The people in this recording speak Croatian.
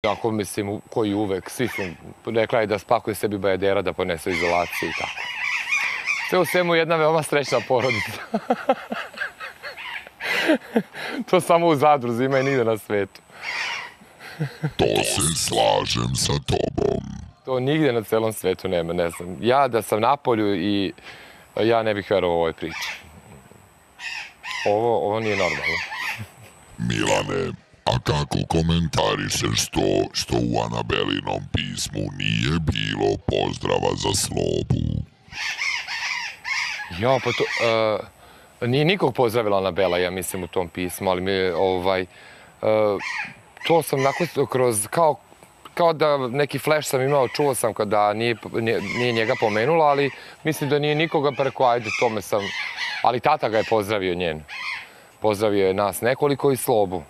Ako mislim, koji uvek, svi su, rekla je da spakuje sebi bajadera, da ponese u izolaciju i tako. Sve u svemu jedna veoma srećna porodica. To samo u Zadruzi ima i nigde na svetu. To se slažem sa tobom. To nigde na celom svetu nema, ne znam. Ja da sam na polju i ja ne bih verovao ovoj priči. Ovo nije normalno. Milane, a kako komentarišeš to što u Anabelinom pismu nije bilo pozdrava za Slobu? Ja, pa to... Nije nikog pozdravila Anabela, ja mislim, u tom pismu, ali to sam onako kroz, kao da neki flash sam imao, čuo sam kada nije njega pomenula, ali mislim da nije nikoga preko, ajde, tome sam... Ali tata ga je pozdravio njen. Pozdravio je nas nekoliko i Slobu.